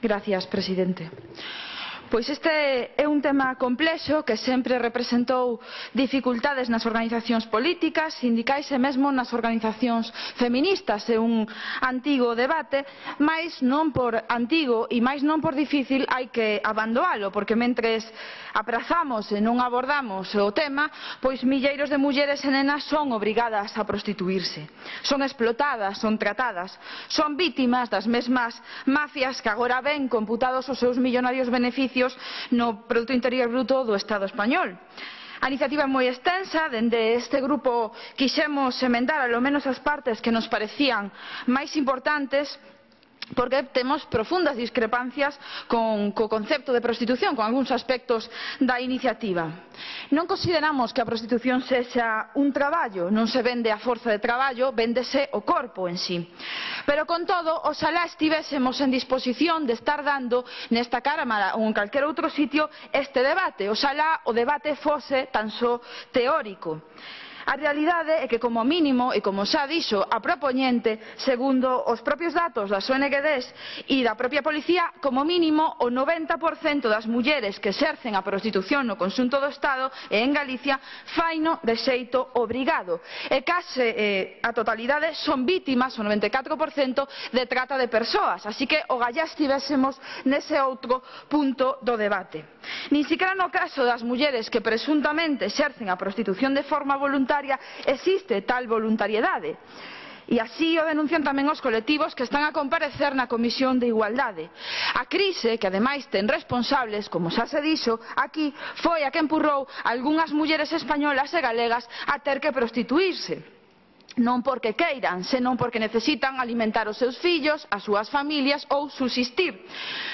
Gracias, presidente. Pois este é un tema complexo que sempre representou dificultades nas organizacións políticas, sindicais e mesmo nas organizacións feministas. É un antigo debate, mais non por antigo e máis non por difícil hai que abandonalo, porque mentres aprazamos e non abordamos o tema, pois milleiros de mulleres e nenas son obrigadas a prostituirse. Son explotadas, son tratadas, son vítimas das mesmas mafias que agora ven computados os seus millonarios beneficios no Produto Interior Bruto do Estado español. A iniciativa é moi extensa, dende este grupo quixemos emendar ao menos as partes que nos parecían máis importantes, porque temos profundas discrepancias co concepto de prostitución, con algúns aspectos da iniciativa. Non consideramos que a prostitución sexa un traballo, non se vende a forza de traballo, véndese o corpo en sí. Pero con todo, oxalá estivésemos en disposición de estar dando nesta Cámara ou en calquer outro sitio este debate, oxalá o debate fose tan só teórico. A realidade é que, como mínimo, e como xa dixo a propoñente, segundo os propios datos das ONGs e da propia policía, como mínimo o 90% das mulleres que exercen a prostitución no conxunto do Estado e en Galicia faino de xeito obrigado. E case a totalidade son vítimas, o 94%, de trata de persoas. Así que ogallá estivésemos nese outro punto do debate. Nin siquiera no caso das mulleres que presuntamente exercen a prostitución de forma voluntaria existe tal voluntariedade. E así o denuncian tamén os colectivos que están a comparecer na Comisión de Igualdade. A crise, que ademais ten responsables, como xa se dixo aquí, foi a que empurrou algunhas mulleres españolas e galegas a ter que prostituírse. Non porque queiran, senón porque necesitan alimentar os seus fillos, as súas familias ou subsistir.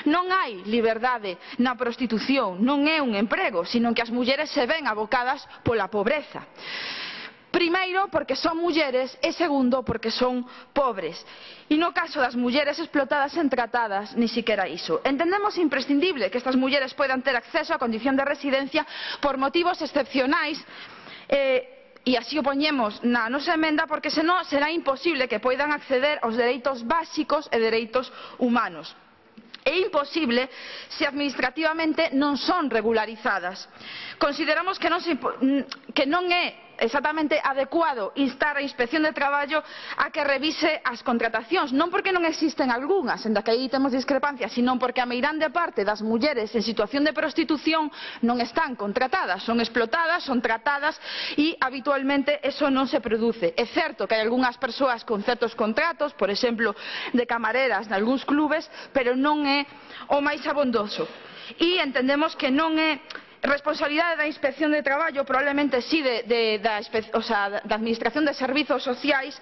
Non hai liberdade na prostitución, non é un emprego, sino que as mulleres se ven abocadas pola pobreza. Primeiro, porque son mulleres e segundo, porque son pobres. E no caso das mulleres explotadas e tratadas, ni siquiera iso. Entendemos imprescindible que estas mulleres poidan ter acceso á condición de residencia por motivos excepcionais, e así o poñemos na nosa emenda, porque senón será imposible que poidan acceder aos dereitos básicos e dereitos humanos. É imposible se administrativamente non son regularizadas. Consideramos que non é exactamente adecuado instar a Inspección de Traballo a que revise as contratacións, non porque non existen algunhas, en da que aí temos discrepancias, sino porque a meirande parte das mulleres en situación de prostitución non están contratadas, son explotadas, son tratadas e habitualmente eso non se produce. É certo que hai algunhas persoas con certos contratos, por exemplo, de camareras de algúns clubes, pero non é o máis abondoso. E entendemos que non é responsabilidade da Inspección de Traballo, probablemente sí da Administración de Servizos Sociais,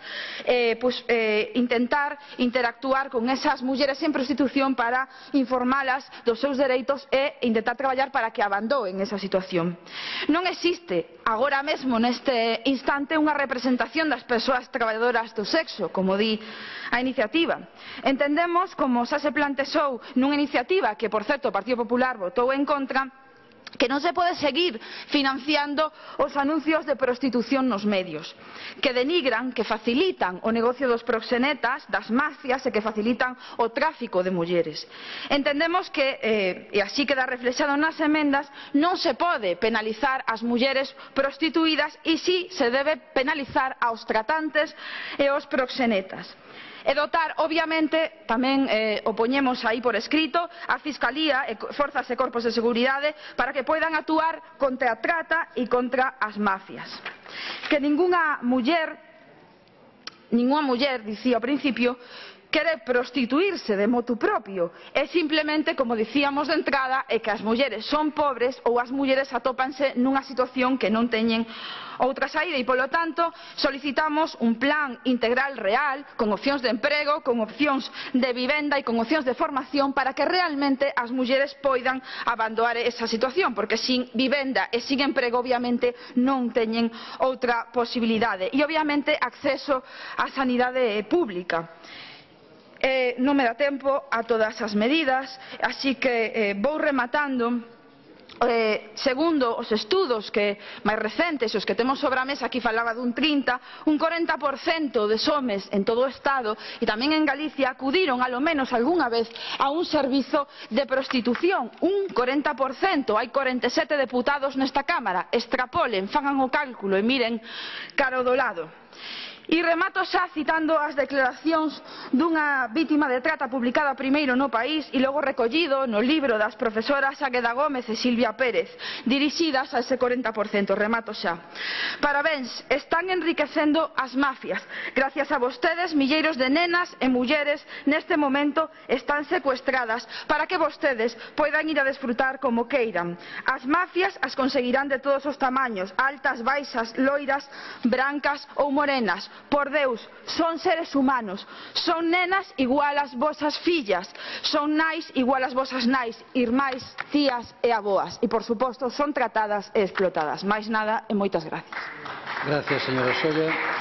intentar interactuar con esas mulleres en prostitución para informalas dos seus dereitos e intentar traballar para que abandonen esa situación. Non existe agora mesmo neste instante unha representación das persoas traballadoras do sexo, como di a iniciativa. Entendemos, como xa se plantexou nunha iniciativa que, por certo, o Partido Popular votou en contra, que non se pode seguir financiando os anuncios de prostitución nos medios, que denigran, que facilitan o negocio dos proxenetas, das mafias e que facilitan o tráfico de mulleres. Entendemos que, e así queda reflexado nas emendas, non se pode penalizar as mulleres prostituídas e si se debe penalizar aos tratantes e aos proxenetas. E dotar, obviamente, tamén o poñemos aí por escrito, a Fiscalía e Forzas e Corpos de Seguridade para que poidan actuar contra a trata e contra as mafias. Que ningunha muller, dicía ao principio, quere prostituirse de motu propio. É simplemente, como dicíamos de entrada, é que as mulleres son pobres ou as mulleres atópanse nunha situación que non teñen outra saída e, polo tanto, solicitamos un plan integral real, con opcións de emprego, con opcións de vivenda e con opcións de formación para que realmente as mulleres poidan abandonar esa situación, porque sin vivenda e sin emprego, obviamente, non teñen outra posibilidade. E, obviamente, acceso á sanidade pública. Non me dá tempo a todas as medidas, así que vou rematando segundo os estudos máis recentes, os que temos sobre a mesa, aquí falaba dun 30, un 40% de homes en todo o Estado e tamén en Galicia acudiron alo menos algunha vez a un servizo de prostitución. Un 40%, hai 47 deputados nesta Cámara, extrapolen, fagan o cálculo e miren cara ao do lado. E remato xa citando as declaracións dunha vítima de trata publicada primeiro no País e logo recollido no libro das profesoras Águeda Gómez e Silvia Pérez, dirixidas a ese 40%. Remato xa. Parabéns, están enriquecendo as mafias. Gracias a vostedes, milleiros de nenas e mulleres neste momento están secuestradas para que vostedes poidan ir a desfrutar como queiran. As mafias as conseguirán de todos os tamaños, altas, baixas, loiras, brancas ou morenas. Por Deus, son seres humanos, son nenas igual ás vosas fillas, son nais igual ás vosas nais, irmais, tías e avoas e, por suposto, son tratadas e explotadas. Máis nada e moitas gracias. Gracias, señora Solla.